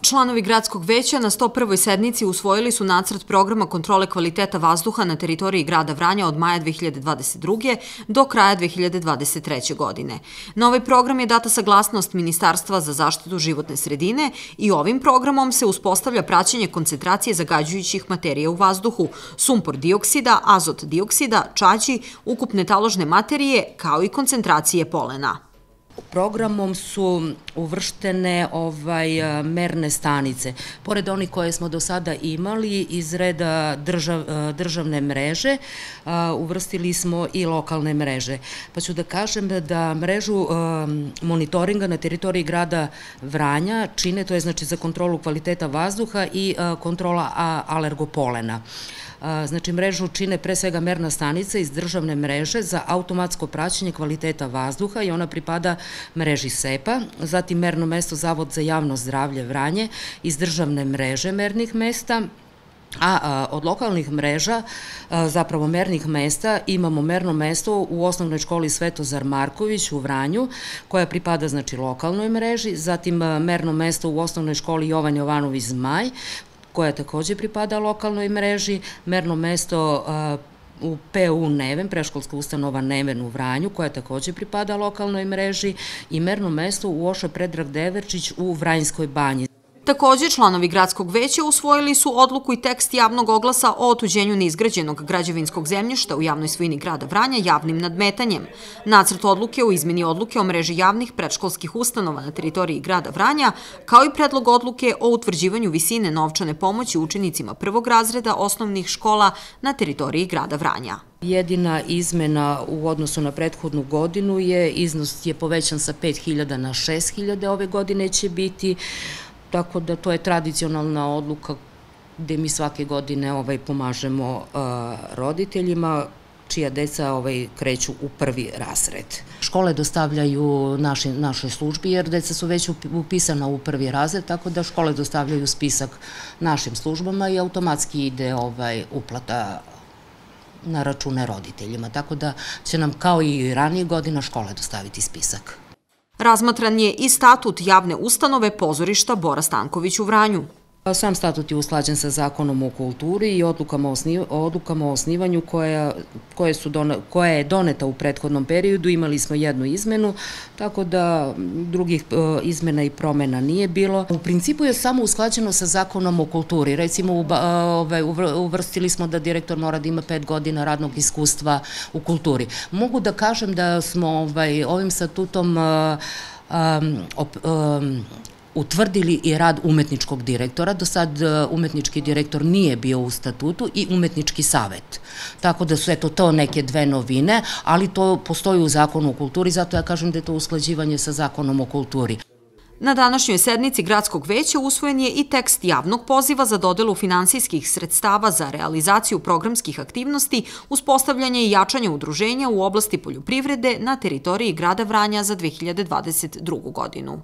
Članovi Gradskog veća na 101. sednici usvojili su nacrt programa kontrole kvaliteta vazduha na teritoriji grada Vranja od maja 2022. do kraja 2023. godine. Na ovaj program je data saglasnost Ministarstva za zaštitu životne sredine i ovim programom se uspostavlja praćenje koncentracije zagađujućih materija u vazduhu, sumpor dioksida, azot dioksida, čađi, ukupne taložne materije, kao i koncentracije polena. Programom su uvrštene merne stanice. Pored onih koje smo do sada imali iz reda državne mreže, uvrstili smo i lokalne mreže. Pa ću da kažem da mrežu monitoringa na teritoriji grada Vranja čine, to je znači za kontrolu kvaliteta vazduha i kontrola alergopolena. Znači, mrežu čine pre svega merna stanica iz državne mreže za automatsko praćenje kvaliteta vazduha i ona pripada mreži SEPA, zatim merno mesto Zavod za javno zdravlje Vranje iz državne mreže mernih mesta, a od lokalnih mreža, zapravo mernih mesta, imamo merno mesto u osnovnoj školi Svetozar Marković u Vranju, koja pripada znači lokalnoj mreži, zatim merno mesto u osnovnoj školi Jovan Jovanović Zmaj, koja takođe pripada lokalnoj mreži, merno mesto u PU Neven, preškolska ustanova Neven u Vranju, koja takođe pripada lokalnoj mreži, i merno mesto u Oša Predrag Deverčić u Vranjskoj banji. Takođe, članovi Gradskog veća usvojili su odluku i tekst javnog oglasa o otuđenju neizgrađenog građevinskog zemljišta u javnoj svojini grada Vranja javnim nadmetanjem. Nacrt odluke o izmeni odluke o mreži javnih predškolskih ustanova na teritoriji grada Vranja, kao i predlog odluke o utvrđivanju visine novčane pomoći učenicima prvog razreda osnovnih škola na teritoriji grada Vranja. Jedina izmena u odnosu na prethodnu godinu je iznos je povećan sa 5.000 na 6.000, ove godine će biti. Tako da to je tradicionalna odluka gde mi svake godine pomažemo roditeljima čija deca kreću u prvi razred. Škole dostavljaju našoj službi jer deca su već upisana u prvi razred, tako da škole dostavljaju spisak našim službama i automatski ide uplata na račune roditeljima, tako da će nam kao i ranije godina škole dostaviti spisak. Razmatran je i statut javne ustanove pozorišta Bora Stanković u Vranju. Sam statut je usklađen sa Zakonom o kulturi i odlukama o osnivanju koja je doneta u prethodnom periodu. Imali smo jednu izmenu, tako da drugih izmena i promena nije bilo. U principu je samo usklađeno sa Zakonom o kulturi. Recimo, uvrstili smo da direktor mora da ima 5 godina radnog iskustva u kulturi. Mogu da kažem da smo ovim statutom utvrdili i rad umetničkog direktora. Do sad umetnički direktor nije bio u statutu i umetnički savet. Tako da su to neke dve novine, ali to postoji u Zakonu o kulturi, zato ja kažem da je to usklađivanje sa Zakonom o kulturi. Na današnjoj sednici Gradskog veća usvojen je i tekst javnog poziva za dodelu finansijskih sredstava za realizaciju programskih aktivnosti, uspostavljanje i jačanje udruženja u oblasti poljoprivrede na teritoriji grada Vranja za 2022. godinu.